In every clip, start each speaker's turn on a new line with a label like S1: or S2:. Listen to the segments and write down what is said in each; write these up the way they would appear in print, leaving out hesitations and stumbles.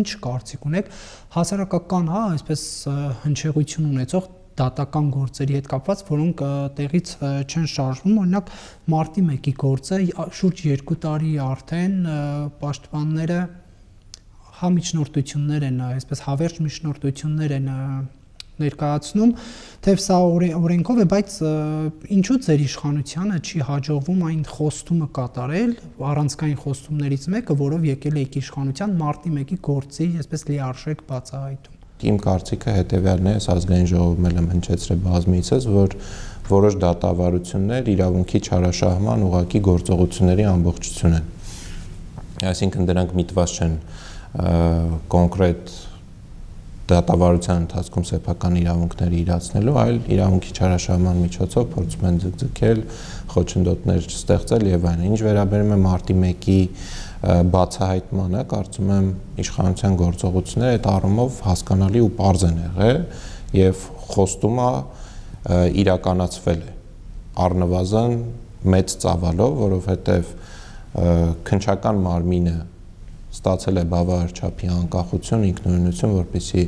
S1: ինչ կարծիք ունեք հասարակական, հա, այսպես հնչեղություն ունեցող դատական գործերի հետ կապված, որոնք տեղից չեն շարժվում, օրինակ մարտի 1-ի գործը շուրջ 2 տարի արդեն պաշտպանները համիջնորդություններ են, այսպես հավերժ միջնորդություններ են ներկայացնում, թեև սա օրենքով է, բայց ինչու ձեր իշխանությանը չի հաջողվում այն խոստումը կատարել, առանցքային խոստումներից մեկը, որով եկել եք իշխանության մարտի 1-ի գործի, այսպես լիարժեք բացահայտում։
S2: Իմ կարծիքը հետևյալն է, ազգային ժողովում եմ հնչեցրել բազմիցս, որ որոշ դատավարություններ իրավունքի չարաշահման ուղղակի գործողությունների ամբողջություն են։ Այսինքն դրանք միտված չեն կոնկրետ դատավարության ընթացքում սեփական իրավունքները իրացնելու, այլ իրավունքի չարաշահման միջոցով փորձում են ձգձգել, խոչընդոտներ ստեղծել եւ այլն։ Ինչ վերաբերում է մարտի 1-ի բացահայտմանը, կարծում եմ իշխանության գործողությունները այդ առումով հասկանալի ու պարզ են եղել եւ խոստումը իրականացվել է առնվազն մեծ ծավալով, որովհետեւ քննչական մարմինը ստացել է բավարար չափի անկախություն, ինքնուրույնություն, որպեսզի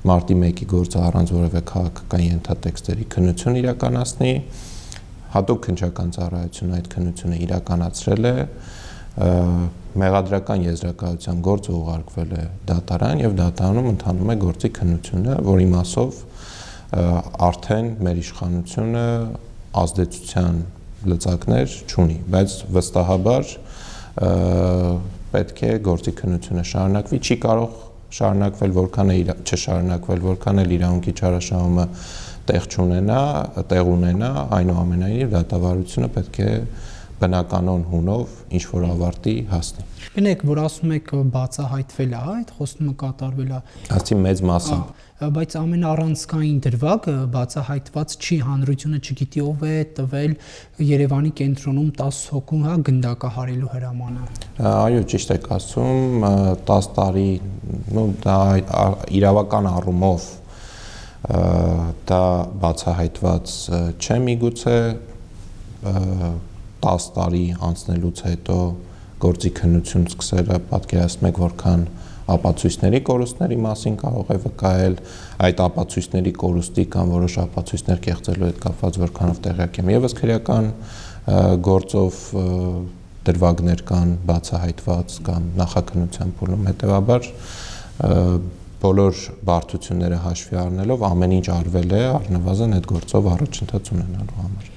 S2: մարտի 1-ի գործը առանց որևէ քաղաքական ենթատեքստերի քննություն իրականացնի, հատուկ քննչական ծառայությունը այդ քննությունը իրականացրել է, մեղադրական եզրակացության գործը ուղարկվել է դատարան եւ դատարանում ընթանում է գործի քննությունը, որի մասով արդեն մեր իշխանությունը ազդեցության լծակներ չունի, բայց վստահաբար պետք է գործի քննությունը շարունակվի, չի կարող շարունակվել, որքան է չշարունակվել, որքան էլ իրավունքի չարաշահումը տեղ ունենա, այնուամենայնիվ դատավարությունը պետք է բնականon հունով ինչ որ ավարտի հասնի։
S1: Գնեք, որ ասում եք բացահայտվել է, այդ խոստումը կատարվել է։
S2: Ասի մեծ մասամբ։
S1: Բայց ամենառանցքային դրվագը բացահայտված չի, հանրությունը չգիտի ով է տվել Երևանի կենտրոնում 10 հոգու, հա, գնդակահարելու հրամանը։
S2: Այո, ճիշտ եք ասում, 10 տարի, դա իրավական առումով դա բացահայտված չէ միգուցե 10 տարի անցնելուց հետո գործի քննություն սկսելը, պատկերացնում եք որքան ապացույցների կորուստների մասին կարող է վկայել, այդ ապացույցների կորուստի կամ որոշ ապացույցներ կեղծելու հետ կապված որքանով տեղյակ եմ եւս քրեական գործով դրվագներ կան բացահայտված կամ նախաքննության փուլում, հետեւաբար բոլոր բարդությունները հաշվի առնելով ամեն ինչ արվել է առնվազն այդ գործով առաջընթաց ունենալու համար։